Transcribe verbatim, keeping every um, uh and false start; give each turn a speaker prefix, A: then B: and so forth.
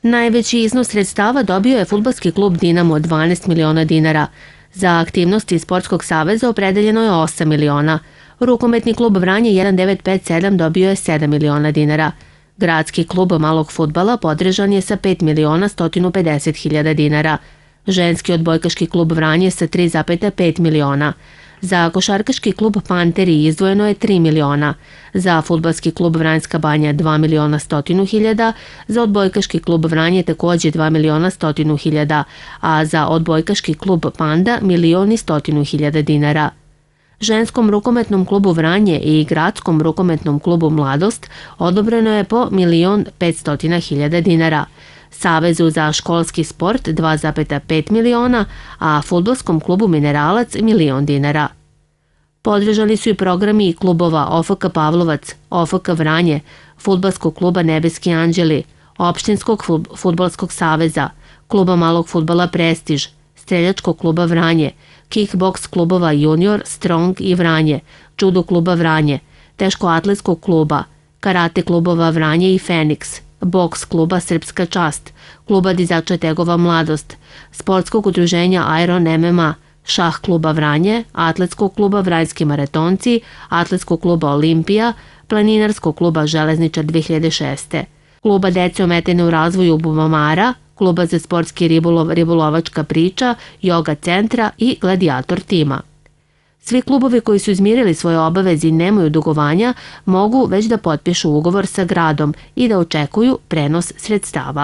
A: Najveći iznos sredstava dobio je fudbalski klub Dinamo dvanaest miliona dinara. Za aktivnosti Sportskog saveza opredeljeno je osam miliona. Rukometni klub Vranje jedan devet pet sedam dobio je sedam miliona dinara. Gradski klub malog fudbala podržan je sa pet miliona sto pedeset hiljada dinara. Ženski odbojkaški klub Vranje sa tri zarez pet miliona. Za košarkaški klub Panteri izdvojeno je tri miliona. Za fudbalski klub Vranjska Banja dva miliona sto hiljada, za odbojkaški klub Vranje takođe dva miliona sto hiljada, a za odbojkaški klub Panda milion i stotinu hiljada dinara. Ženskom rukometnom klubu Vranje i gradskom rukometnom klubu Mladost odobreno je po milion petsto hiljada dinara. Savezu za školski sport dva zarez pet miliona, a fudbalskom klubu Mineralac milion dinara. Podržani su i programi klubova O F K Pavlovac, O F K Vranje, fudbalskog kluba Nebeski anđeli, opštinskog fudbalskog saveza, kluba malog fudbala Prestiž, streljačkog kluba Vranje, kickboks klubova Junior, Strong i Vranje, judo kluba Vranje, teškoatletskog kluba, karate klubova Vranje i Feniks, boks kluba Srpska čast, kluba dizača tegova Mladost, sportskog udruženja Iron M M A, šah kluba Vranje, atletskog kluba Vranjski maratonci, atletskog kluba Olimpija, planinarskog kluba Železničar dve hiljade šeste, kluba dece ometene u razvoju Bubamara, kluba za sportski ribolov Ribolovačka priča, joga centra i gladijator tima. Svi klubovi koji su izmirili svoje obaveze i nemaju dugovanja mogu već da potpišu ugovor sa gradom i da očekuju prenos sredstava.